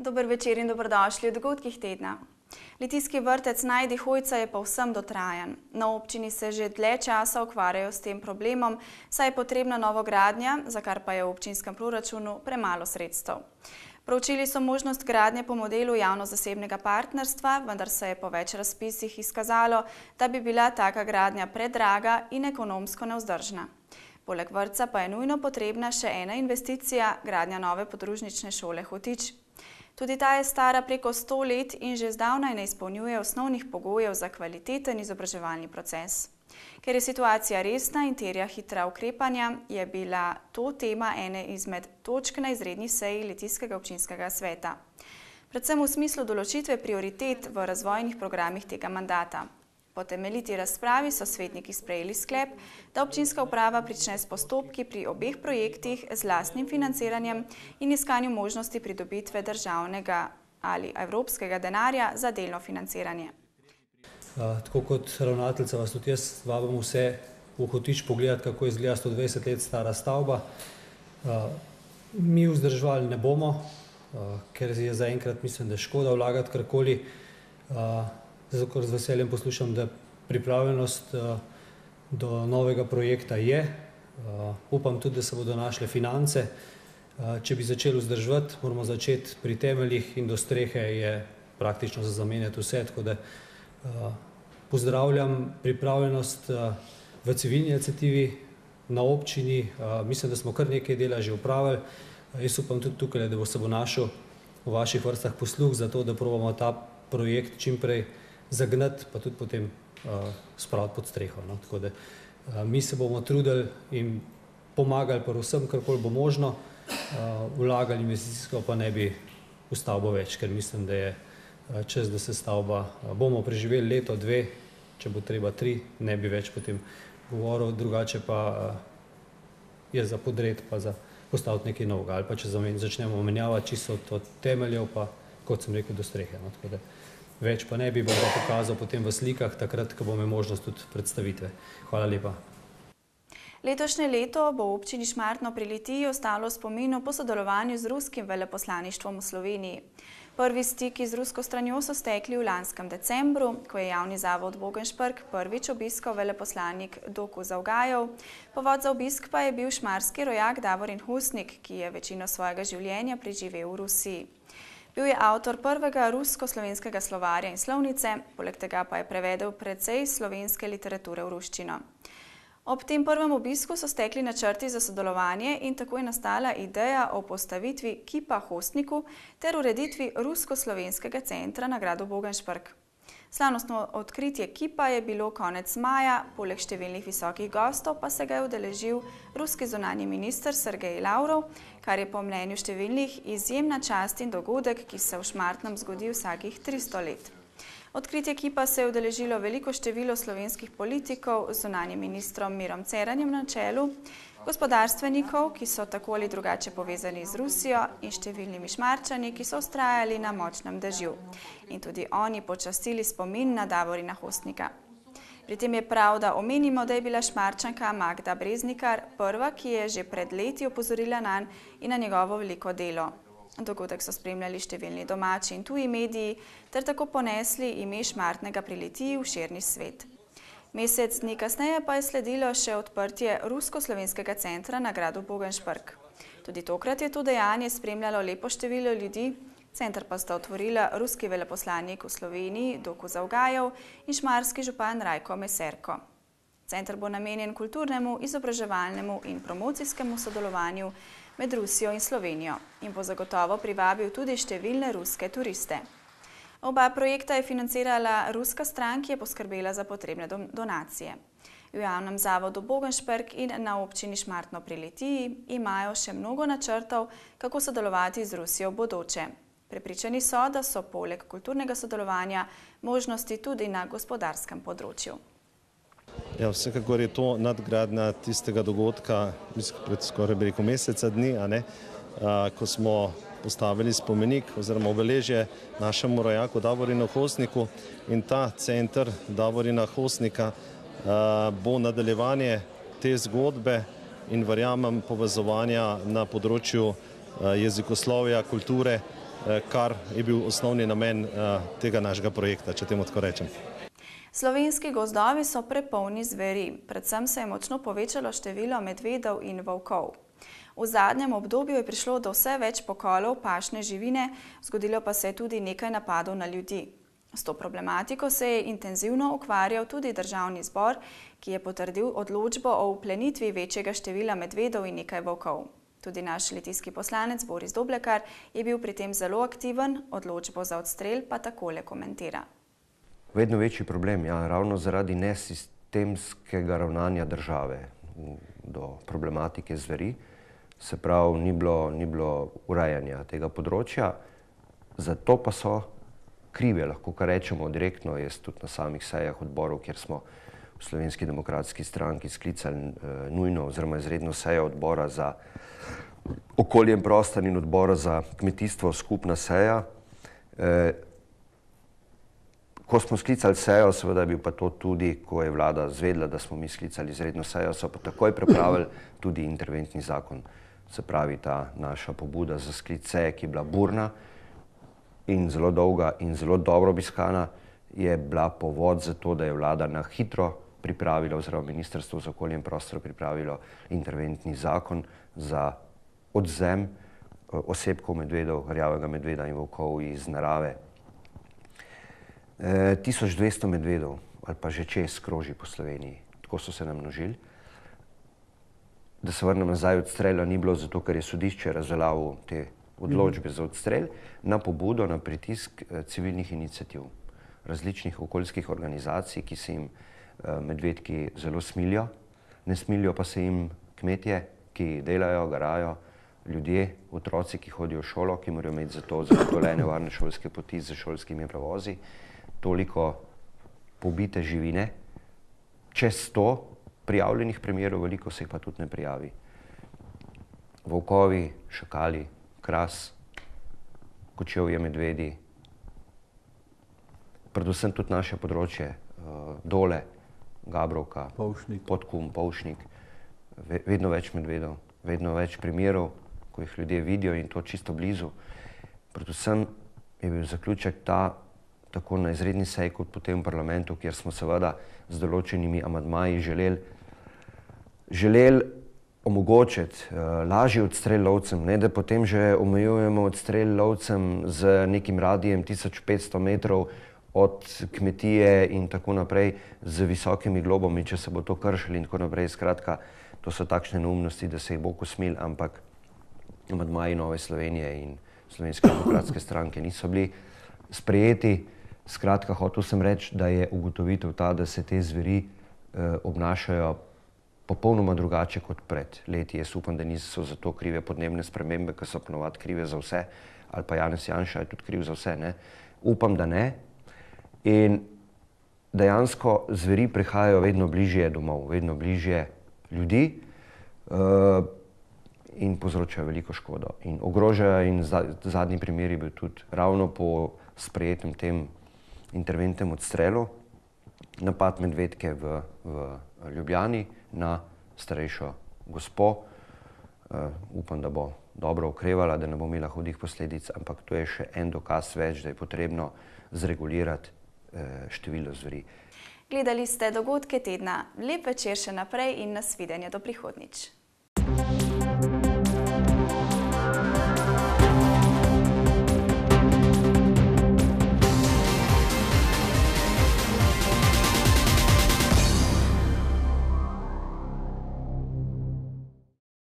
Dober večer in dobrodošli v dogodkih tedna. Litijski vrtec Najdi Hojca je povsem dotrajan. Na občini se že dlje časa ukvarjajo s tem problemom, saj je potrebna novogradnja, za kar pa je v občinskem proračunu premalo sredstev. Proučili so možnost gradnje po modelu javno-zasebnega partnerstva, vendar se je po več razpisih izkazalo, da bi bila taka gradnja predraga in ekonomsko nevzdržna. Poleg vrtca pa je nujno potrebna še ena investicija, gradnja nove podružnične šole Hotič. Tudi ta je stara preko 100 let in že zdavnaj ne izpolnjuje osnovnih pogojev za kvaliteten izobraževalni proces. Ker je situacija resna in terja hitra ukrepanja, je bila to tema ene izmed točk na izredni seji Litijskega občinskega sveta. Predvsem v smislu določitve prioritet v razvojnih programih tega mandata. Po temeljiti razpravi so svetniki sprejeli sklep, da občinska uprava prične s postopki pri obeh projektih z lastnim financiranjem in iskanju možnosti pridobitve državnega ali evropskega denarja za delno financiranje. Tako kot ravnateljica vas tudi jaz vabim vse v Hotič pogledati, kako izgleda 120 let stara stavba. Mi vzdrževali ne bomo, ker je zaenkrat mislim, da je škoda vlagati karkoli. Zato z veseljem poslušam, da pripravljenost do novega projekta je. Upam tudi, da se bodo našle finance. Če bi začeli vzdrževati, moramo začeti pri temeljih in do strehe je praktično za zamenjati vse. Tako da pozdravljam pripravljenost v civilni iniciativi na občini. Mislim, da smo kar nekaj dela že opravili. Jaz upam tudi tukaj, da se bo našel v vaših vrstah posluh za to, da probamo ta projekt čim prej zagnati, pa tudi potem spraviti pod streho. Tako da mi se bomo trudili in pomagali pa vsem, karkoli bo možno, vlagali investicijsko, pa ne bi v stavbo več, ker mislim, da je čas, da se stavba, bomo preživeli leto, dve, če bo treba 3, ne bi več potem govoril, drugače pa je za podred, pa za postaviti nekaj novega, ali pa če začnemo menjavati čisto od temeljev, pa kot sem rekel, do strehe. Tako da več pa ne bi, bom pa pokazal potem v slikah, takrat, ko bomo možnost tudi predstavitve. Hvala lepa. Letošnje leto bo v občini Šmartno pri Litiji ostalo v spominu po sodelovanju z ruskim veleposlaništvom v Sloveniji. Prvi stiki z rusko stranjo so stekli v lanskem decembru, ko je javni zavod Bogenšprk prvič obiskal veleposlanik Doku Zavgajev. Povod za obisk pa je bil šmarski rojak Davorin Husnik, ki je večino svojega življenja preživel v Rusiji. Bil je avtor prvega rusko-slovenskega slovarja in slovnice, poleg tega pa je prevedel precej slovenske literature v ruščino. Ob tem prvem obisku so stekli načrti za sodelovanje in tako je nastala ideja o postavitvi kipa Hostniku ter ureditvi rusko-slovenskega centra na gradu Bogenšprk. Slavnostno odkritje kipa je bilo konec maja, poleg številnih visokih gostov pa se ga je udeležil ruski zunanji minister Sergej Lavrov, kar je po mnenju številnih izjemna čast in dogodek, ki se v Šmartnem zgodi vsakih 300 let. Odkritje kipa se je udeležilo veliko število slovenskih politikov z zunanjim ministrom Mirom Ceranjem na čelu, gospodarstvenikov, ki so tako ali drugače povezani z Rusijo in številnimi Šmarčani, ki so vztrajali na močnem dežju. In tudi oni počastili spomin na Davorina Hostnika. Pri tem je prav, da omenimo, da je bila Šmarčanka Magda Breznikar prva, ki je že pred leti opozorila nanj in na njegovo veliko delo. Dogodek so spremljali številni domači in tuji mediji ter tako ponesli ime Šmartnega pri Litiji v širni svet. Mesec dni kasneje pa je sledilo še odprtje rusko-slovenskega centra na gradu Bogenšprk. Tudi tokrat je to dejanje spremljalo lepo število ljudi, center pa sta otvorila ruski veleposlanik v Sloveniji Doku Zavgajev in šmarski župan Rajko Meserko. Center bo namenjen kulturnemu, izobraževalnemu in promocijskemu sodelovanju med Rusijo in Slovenijo in bo zagotovo privabil tudi številne ruske turiste. Oba projekta je financirala ruska stran, ki je poskrbela za potrebne donacije. V javnem zavodu Bogenšprk in na občini Šmartno pri Litiji imajo še mnogo načrtov, kako sodelovati z Rusijo v bodoče. Prepričani so, da so poleg kulturnega sodelovanja možnosti tudi na gospodarskem področju. Ja, vsekakor je to nadgradnja tistega dogodka, mislim, pred skoraj meseca dni, ko smo postavili spomenik oziroma obeležje našemu rojaku Davorinu Hostniku in ta center Davorina Hostnika bo nadaljevanje te zgodbe in verjamem povezovanja na področju jezikoslovja, kulture kar je bil osnovni namen tega našega projekta, če temu tako rečem. Slovenski gozdovi so prepolni zveri, predvsem se je močno povečalo število medvedov in volkov. V zadnjem obdobju je prišlo do vse več pokolov pašne živine, zgodilo pa se je tudi nekaj napadov na ljudi. S to problematiko se je intenzivno ukvarjal tudi Državni zbor, ki je potrdil odločbo o vplenitvi večjega števila medvedov in nekaj volkov. Tudi naš litijski poslanec Boris Doblekar je bil pri tem zelo aktiven, odločbo za odstrel pa takole komentira. Vedno večji problem, ravno zaradi nesistemskega ravnanja države do problematike zveri, se pravi, ni bilo urejanja tega področja, zato pa so krive, lahko kar rečemo direktno, jaz tudi na samih sejah odborov, kjer smo v Slovenski demokratski stranki sklicali nujno oziroma izredno sejo odbora za okolje in prostor in odbora za kmetijstvo, skupna seja. Ko smo sklicali sejo, seveda je bil pa to tudi, ko je vlada zvedela, da smo mi sklicali izredno sejo, so pa takoj pripravili tudi interventni zakon. Se pravi, ta naša pobuda za sklic seje, ki je bila burna in zelo dolga in zelo dobro obiskana, je bila povod za to, da je vlada na hitro pripravila, oziroma Ministrstvo za okolje in prostor pripravilo interventni zakon za odvzem osebkov medvedov, rjavega medveda in volkov iz narave. 1200 medvedov ali pa že čez kroži po Sloveniji, tako so se namnožili. Da se vrnem nazaj, odstrela ni bilo zato, ker je sodišče razveljavilo te odločbe za odstrel na pobudo, na pritisk civilnih iniciativ, različnih okoljskih organizacij, ki se jim medvedki zelo smilijo. Ne smilijo pa se jim kmetje, ki delajo, garajo, ljudje, otroci, ki hodijo v šolo, ki morajo imeti za to zagotovljene varne šolske poti z šolskimi prevozi, toliko pobite živine, čez 100 prijavljenih primerov, veliko se jih pa tudi ne prijavi. Volkovi, šakali, kras, kočevje medvedi, predvsem tudi naše področje, Dole, Gabrovka, Podkum, Polšnik, vedno več medvedov, vedno več primerov, ko jih ljudje vidijo in to čisto blizu. Predvsem je bil zaključek tako na izredni seji kot potem v parlamentu, kjer smo seveda z določenimi amadmaji želeli omogočiti lažji odstrel lovcem, ne da potem že omejujemo odstrel lovcem z nekim radijem 1500 metrov od kmetije in tako naprej z visokimi globami, če se bo to kršili in tako naprej. Skratka, to so takšne neumnosti, da se jih bo kosmil, ampak amadmaji Nove Slovenije in Slovenske demokratske stranke niso bili sprejeti. Skratka, hotel sem reči, da je ugotovitev ta, da se te zveri obnašajo popolnoma drugače kot pred leti. Jaz upam, da niso za to krive podnebne spremembe, ki so ponovadi krive za vse, ali pa Janez Janša je tudi kriv za vse, ne. Upam, da ne. In dejansko zveri prihajajo vedno bližje domov, vedno bližje ljudi in povzročajo veliko škodo. In ogrožajo, in zadnji primer je bil tudi ravno po sprejetem tem interventnem odstrelu, napad medvedke v Ljubljani na starejšo gospo. Upam, da bo dobro okrevala, da ne bo imela hudih posledic, ampak to je še en dokaz več, da je potrebno zregulirati število zveri. Gledali ste dogodke tedna. Lep večer še naprej in nasvidenje do prihodnjič.